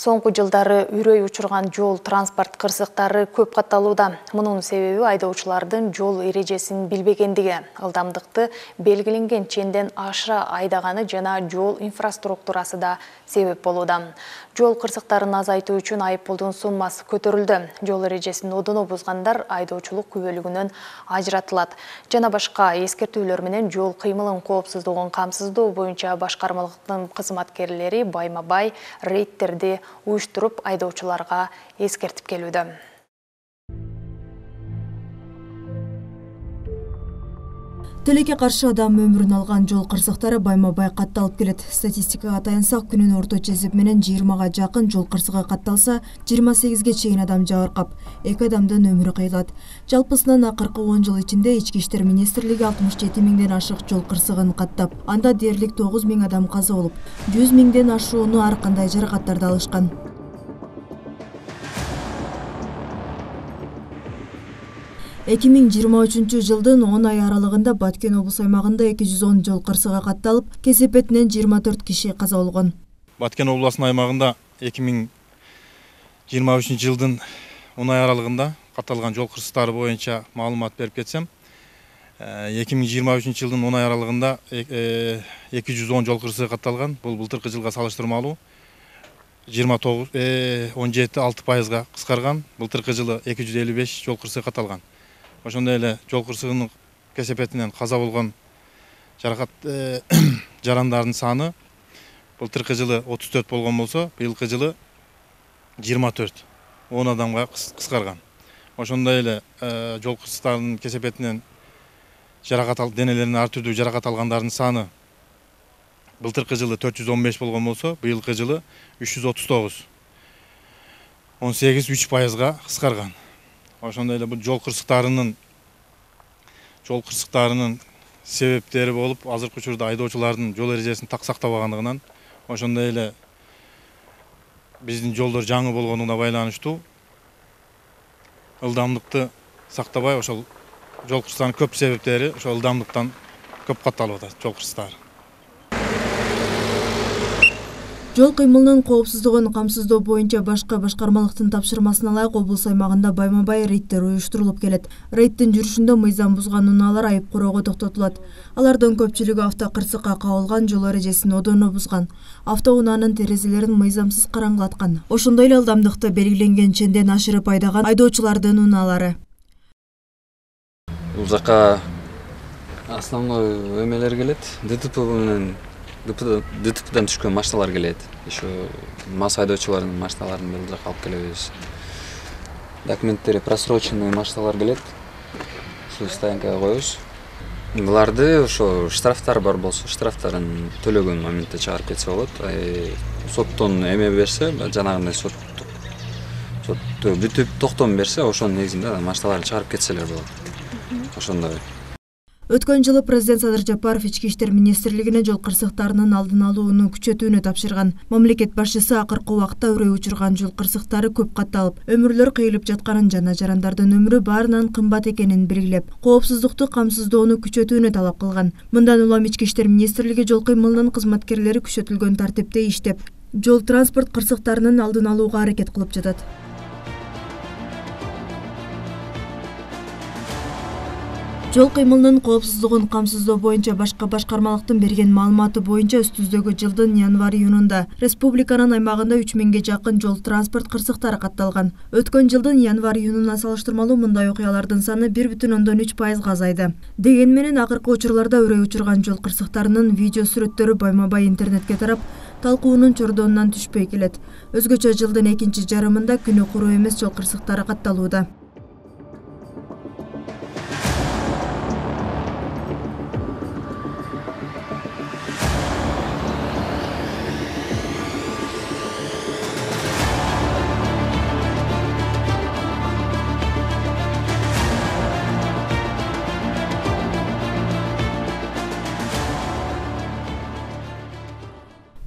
Соңку жылдары үрөй учурган жол транспорт кырсыктары көп катталууда. Мунун себеби айдоочулардын жол эрежесин билбегендиги, ылдамдыкты белгиленген ченден ашыра айдаганы жана жол инфраструктурасы да себеп болууда. Жол кырсыктарын азайтуу үчүн айыппулдун суммасы көтөрүлдү. Жол эрежесин одоно бузгандар айдоочулук күбөлүгүнөн ажыратылат. Жана башка эскертүүлөр менен жол кыймылын коопсуздугун камсыздоо боюнча башкармалыктын кызматкерлери байма-бай рейдтерди уюштуруп айдоочуларга эскертип келүүдө. Тилекке каршы адам өмүрүн алган жол кырсыктары байма-бай катталып келет. Статистикага таянсак, күнүнүн орточо эсеп менен 20га жакын жол кырсыгы катталса, 28ге чейин адам жабыркап, 2 адамдын өмүрү кыйылат. Жалпысынан акыркы 10 жыл ичинде Ички иштер министрлиги 67 миңден ашык жол кырсыгын каттап, анда дээрлик 9 миң адам каза болуп, 100 миңден ашууну ар кандай жаракаттарды алышкан. 2023 жылдын 10 ай аралыгында Баткен облус аймагында 210 жол кырсыгы катталып, кесепетинен 24 киши каза болгон. Баткен облусунун аймагында 2023 жылдын 10 ай аралыгында катталган жол кырсыктары боюнча маалымат берип кетсем, 2023 жылдын 10 ай аралыгында 210 жол кырсыгы катталган. Бул былтыркы жылга салыштырмалуу 17,6%га кыскарган. Былтыркы жылы 255 жол кырсыгы катталган. Ошондой эле жол кырсыгынын кесепетинен каза болгон жарандардын саны былтыркы жылы 34 болгон болсо, быйылкы жылы 24, 10 адамга кыскарган. Ошондой эле жол кырсыктарынын кесепетинен денелеринен ар түрдүү жаракат алгандардын саны былтыркы жылы 415 болгон болсо, быйылкы жылы 339, 18,3%га кыскарган. Ошондой эле бул жол кырсыктарынын себептери болуп, азыркы учурда айдоочулардын жол эрежесин так сактабагандыгынан, ошондой эле биздин жолдор жаңы болгонуна байланыштуу ылдамдыкты сактабай, ошол жол кырсыктарынын көп себептери ошол ылдамдыктан көп катталып атат жол кырсыктары. Жол кыймылынын коопсуздугун камсыздоо боюнча башка башкармалыктын тапшырмасына ылайык облус аймагында байма-бай рейдтер уюштурулуп келет. Рейдтин жүрүшүндө мыйзам бузган унаалар айып короого токтотулат. Алардын көпчүлүгү автокырсыкка кабылган, жол эрежесин одоно бузган, автоунаанын терезелерин мыйзамсыз караңгылаткан. Ошондой эле ылдамдыкты белгиленген ченден ашырып айдаган айдоочулардын унаалары. Бул жака основной эмелер келет. ДТП менен ДТПдан түшкөн машиналар келет. Еще мас айдоочулардын машиналарын бул жака алып келебиз. Документтери просроченный машиналар келет. Ушу стоянкага коебуз. Буларды ошо штрафтар бар болсо, штрафтарын төлөгөн моментте чыгарып кетсе болот. Соттон эме берсе, жанагындай соттук бүтүп токтом берсе, ошонун негизинде машиналарды чыгарып кетселер болот. Ошондой. Өткөн жылы президент Садыр Жапаров Ички иштер министрлигине жол кырсыктарынын алдын алууну күчөтүүнү тапшырган. Мамлекет башчысы акыркы убакта үрөй учурган жол кырсыктары көп катталып, өмүрлөр кыйылып жатканын жана жарандардын өмүрү баарынан кымбат экенин белгилеп, коопсуздукту камсыздоону күчөтүүнү талап кылган. Мындан улам Ички иштер министрлиги жол кыймылынын кызматкерлери күчөтүлгөн тартипте иштеп, жол транспорт кырсыктарынын алдын алууга аракет кылып жатат. Жол кыймылынын коопсуздугун камсыздоо боюнча башка башкармалыктын берген маалыматы боюнча өстүздөгү жылдын январь-июнунда республиканын аймагында 3000ге жакын жол транспорт кырсыктары катталган. Өткөн жылдын январь-июнуна салыштырмалуу мындай окуялардын саны 1,3%га азайды. Деген менен акыркы учурларда үрөй учурган жол кырсыктарынын видео сүрөттөрү байма-бай интернетке тарап, талкуунун чордонунан түшпөй келет. Өзгөчө жылдын экинчи жарымында күнү куру эмес жол кырсыктары катталууда.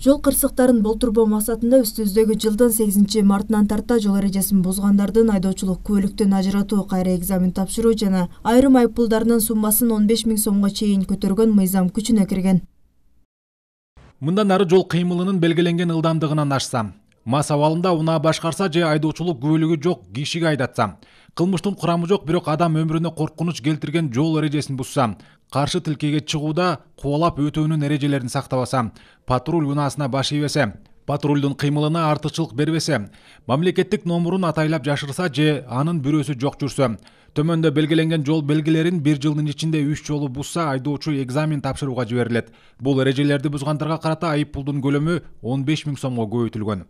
Жол кырсыктарын болтурбоо максатында үстүбүздөгү жылдын 8 мартынан тарта жол эрежесин бузгандардын айдоочулук күбөлүктөн ажыратуу, кайра экзамен тапшыруу жана айрым айыппулдарынын суммасын 15 000 сомго чейин көтөргөн мыйзам күчүнө кирген. Мындан ары жол кыймылынын белгиленген ылдамдыгынан ашса, Мас абалында унаа башкарса же айдоочулук күбөлүгү жок кишиге айдатса, кылмыштын курамы жок бирок адам өмүрүнө коркунуч келтирген жол эрежесин бузса, каршы тилкеге чыгууда кубалап өтөөнүн эрежелерин сактабаса, патруль унаасына баш ийбесе, патрульдун кыймылына артыкчылык бербесе, мамлекеттик номурун атайлап жашырса же анын бирөөсү жок жүрсө, төмөндө белгиленген жол белгилерин 1 жылдын ичинде 3 жолу бузса, айдоочу экзамен тапшырууга жиберилет. Бул эрежелерди бузгандарга карата айып пулдун көлөмү 15 000 сомго көбөйтүлгөн.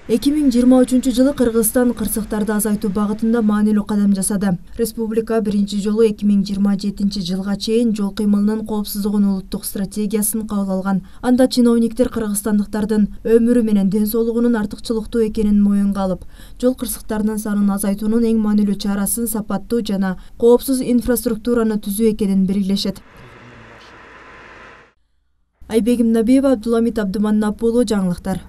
2023 жылы Кыргызстан кырсыктарды азайтуу багытында маанилүү кадам жасады. Республика биринчи жолу 2027 жылга чейин жол кыймылынын коопсуздугунун улуттук стратегиясын кабыл алган. Анда чиновниктер кыргызстандыктардын өмүрү менен ден соолугунун артыкчылыктуу экенин моюнга алып, жол кырсыктарынын санын азайтуунун эң маанилүү чарасын сапаттуу жана коопсуз инфраструктураны түзүү экенин белгилешет. Айбегим Набиева, Абдуламит Абдуманап уулу, жаңылыктар.